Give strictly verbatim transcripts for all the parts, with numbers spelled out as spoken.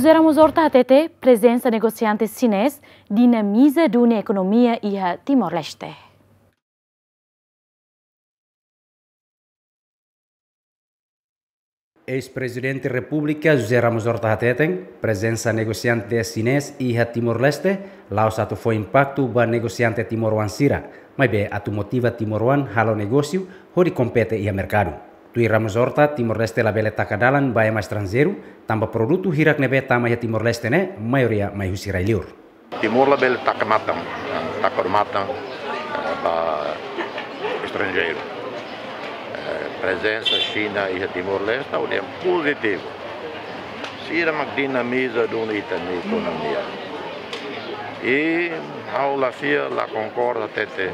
José Ramos Horta hatete prezensa negosiante xinés dinamiza duni ekonomia iha Timor-Leste. Eis-Prezidente Repúblika José Ramos Horta hateten, prezensa negosiante xinés iha Timor-Leste la'ós atu fó impaktu ba negosiante timoroan sira, maibé atu motiva timoroan halo negósiu hodi kompete iha merkadu. Tuir Ramos Horta, Timor-Leste labele taka dalan ba ema estranjeiru, tanba produtu hirak ne'ebé tama iha Timor-Leste ne'e, maioria mai husi rai-liur. Timor labele taka matan, taka matan, eh, ba estranjeiru. Eh, prezensa Xina iha Timor-Leste, ha'u dehan pozitivu. Sira mak dinamiza duni ita-nia ekonomia. I ha'u la fiar, la konkorda hatete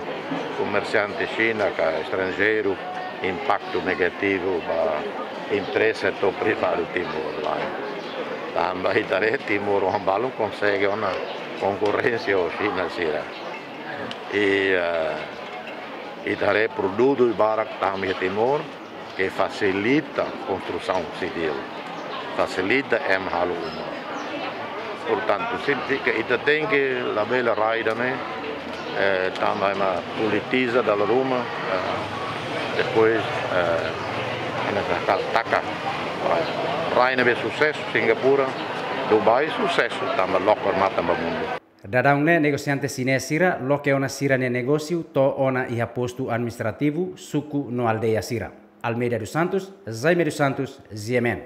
komersiante Xina ka estranjeiru impaktu negativu ba empreza setór privadu Timor lae. Tanba ita haree timoroan balun konsege ona konkorrénsia ho Xina sira. I, eh, ita haree produtu barak tama iha Timor, ke fasilita konstrusaun sivíl, fasilita ema halo uma. Portantu, signifika ita tenke labele rai ida-ne'e, eh, tanba ema politiza dala ruma, eh, depois, eh, ema taka, taka. Rai ne'ebé susesu, Singapura, Dubai, susesu, tanba lokor matan ba mundu. Daudaun ne'e negosiante xinés sira loke ona sira-nia negósiu to'o ona iha postu administrativu, suku no aldeia sira. Almeida dos Santos, Jaime dos Santos, G M N.